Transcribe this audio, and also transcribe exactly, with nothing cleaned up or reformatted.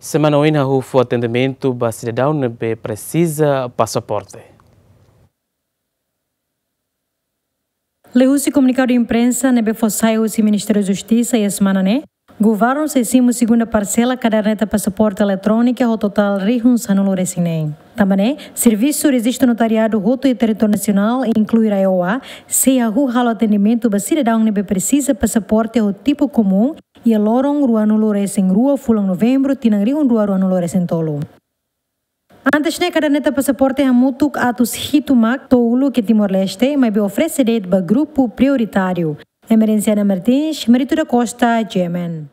Semana oin hahú fó atendimentu ba sidadaun ne'ebé presiza pasaporte. Liuhusi komunikadu imprensa ne'ebé fó sai husi Ministériu Justisa iha semana ne'e, governu sei simu segunda parsela kaderneta pasaporte eletrónika ho totál rihun sanulu-resin-neen. Tanba ne'e, servisu rejistu notariadu hotu iha territóriu nasionál, inklui RAEOA, sei hahú halo atendimentu ba sidadaun ne'ebé presiza pasaporte ho tipu komún iha loron ruanulu-resin-rua fulan Novembru tinan rihun rua ruanulu-resin-tolu. Antes ne'e, kaderneta pasaporte hamutuk atus hitu mak tolu iha Timor-Leste, maibé oferese de'it ba grupu prioritáriu. Emerenciana Martins, Marito da Costa, G M N.